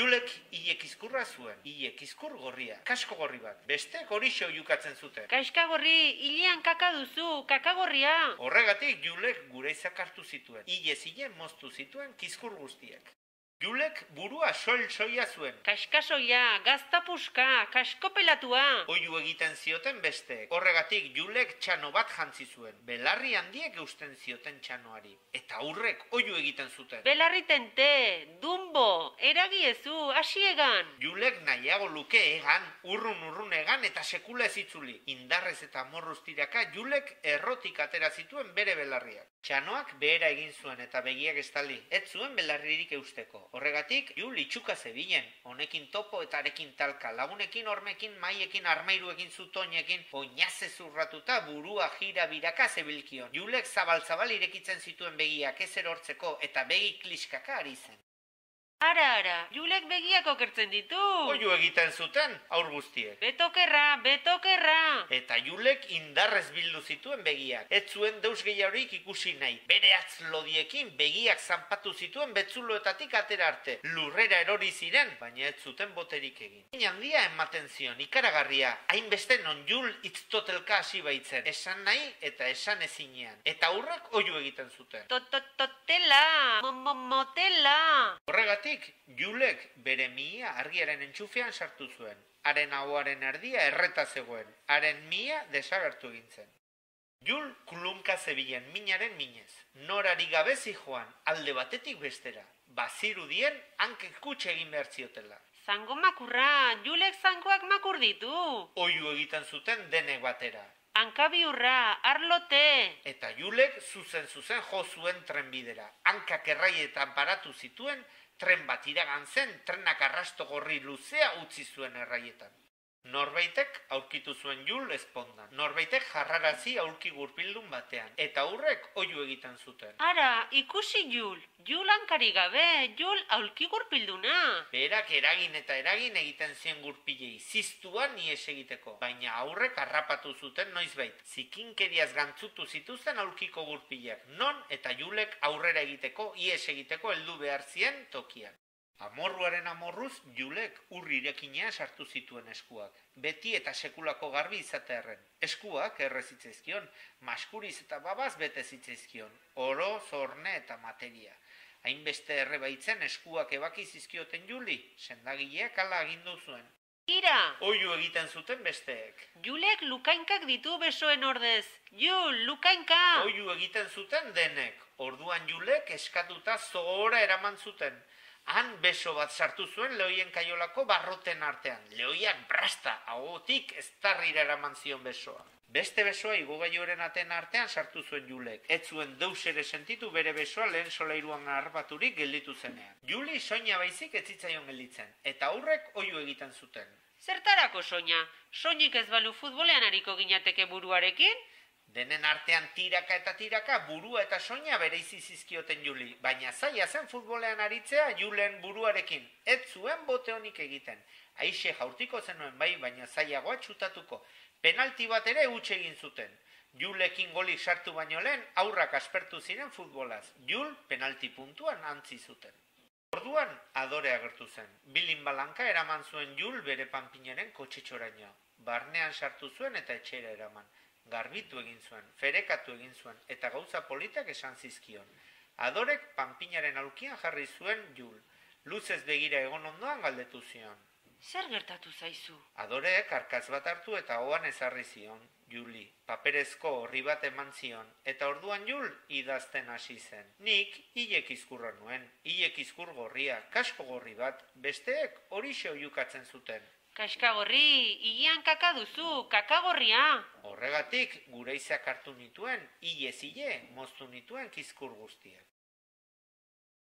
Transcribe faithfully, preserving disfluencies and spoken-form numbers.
Julek hilek izkurra zuen, hilek izkur gorria, kasko gorri bat, bestek horixe oiukatzen zuten. Kaskagorri, hilean kaka duzu, kakagorria. Horregatik Julek gure izak hartu zituen, hilez hile moztu zituen kizkur guztiek. Julek burua soil-soia zuen. Kaskasoia, gaztapuska, kaskopelatua. Oiu egiten zioten besteek. Horregatik Julek txano bat jantzi zuen. Belarri handiek eusten zioten txanoari. Eta aurrek oiu egiten zuten. Belarri tente, dumbo, eragiezu, hasiegan. Julek nahiago luke egan, urrun-urrun egan eta sekula ez itzuli. Indarrez eta morruz tiraka Julek errotik atera zituen bere belarriak. Txanoak behera egin zuen eta begiak estali. Ez zuen belarririk eusteko. Horregatik, Jul itxuka zebilen, honekin topo eta arekin talka, lagunekin, hormekin, maiekin, armairuekin, zutoinekin, oinaze zurratuta burua jira biraka zebilkion. Julek zabal-zabal irekitzen zituen begiak ez erortzeko eta begi kliskaka ari zen. Ara, ara, Julek begiak okertzen ditu. Oiu egiten zuten, aur guztiek. Betokerra, betokerra. Eta Julek indarrez bildu zituen begiak. Ez zuen deus gehiagorik ikusi nahi. Bere atz lodiekin begiak zanpatu zituen betzuloetatik atera arte. Lurrera erori ziren, baina ez zuten boterik egin. Hain handia ematen zion, ikaragarria, hainbeste non Jul itztotelka hasi baitzen. Esan nahi eta esan ezinean. Eta aurrak oiu egiten zuten. Tototela, motela. Horregatik, Julek bere mihia argiaren entxufean sartu zuen. Haren ahoaren erdia erreta zegoen. Haren mihia desagertu egin zen. Jul kulunka zebilen minaren minez. Norari gabe zijoan, alde batetik bestera. Bazirudien hankek kutxe egin behar ziotela. Zango makurra, Julek zangoak makur ditu. Oiu egiten zuten denek batera. Hankabiurra, arlote. Eta Julek zuzen-zuzen jo zuen trenbidera. Hankak erraietan paratu zituen, tren bat iragan zen, trenak arrasto gorri luzea utzi zuen erraietan. Norbaitek aurkitu zuen Jul ezpondan. Norbaitek jarrarazi aurki gurpildun batean. Eta aurrek oiu egiten zuten. Ara, ikusi Jul. Jul hankari gabe, Jul aurki gurpilduna. Berak eragin eta eragin egiten zien gurpilei, ziztuan ies egiteko. Baina aurrek harrapatu zuten noizbait. Zikinkeriaz gantzutu zituzten aurkiko gurpilak. Non eta Julek aurrera egiteko, ies egiteko heldu behar zien tokian. Amorruaren amorruz, Julek urrirekina sartu zituen eskuak. Beti eta sekulako garbi izatearren. Eskuak errezitzaizkion, maskuriz eta babaz bete zitzaizkion. Oro, zorne eta materia. Hainbeste erre baitzen eskuak ebaki zizkioten Juli, sendagileak hala agindu zuen. Ira! Oiu egiten zuten besteek. Julek lukainkak ditu besoen ordez. Jul, lukainka! Oiu egiten zuten denek. Orduan Julek eskatuta zohora eraman zuten. Han beso bat sartu zuen lehoien kaiolako barroten artean. Lehoiak brasta, ahotik eztarrira eraman zion besoa. Beste besoa igogailuaren aten artean sartu zuen Julek. Ez zuen deus ere sentitu bere besoa lehen solairuan harbaturik gelditu zenean. Juli soina baizik ez zitzaion gelditzen, eta aurrek oiu egiten zuten. Zertarako soina? Soinik ez balu futbolean ariko ginateke buruarekin? Denen artean tiraka eta tiraka burua eta soina bereizi zizkioten Juli, baina zaila zen futbolean aritzea Julen buruarekin, ez zuen bote honik egiten. Aixe jaurtiko zenuen bai, baina zailagoa txutatuko. Penalti bat ere huts egin zuten. Julekin golik sartu baino lehen aurrak aspertu ziren futbolaz. Jul penalti puntuan antzi zuten. Orduan adore agertu zen. Bilin balanka eraman zuen Jul bere panpinaren kotxetxoraino. Barnean sartu zuen eta etxera eraman. Garbitu egin zuen, ferekatu egin zuen, eta gauza politak esan zizkion. Adorek panpinaren aulkian jarri zuen Jul. Luzez begira egon ondoan galdetu zion. Zer gertatu zaizu? Adorek arkatz bat hartu eta hoan ezarri zion, Juli. Paperezko horri bat eman zion, eta orduan Jul idazten hasi zen. Nik hilek izkurra nuen, hilek izkur gorria, kasko gorri bat, besteek horixe oiukatzen zuten. Kaskagorri, hilean kaka duzu, kakagorria. Horregatik, gure izak hartu nituen, hilez hile moztu nituen kizkur guztiak.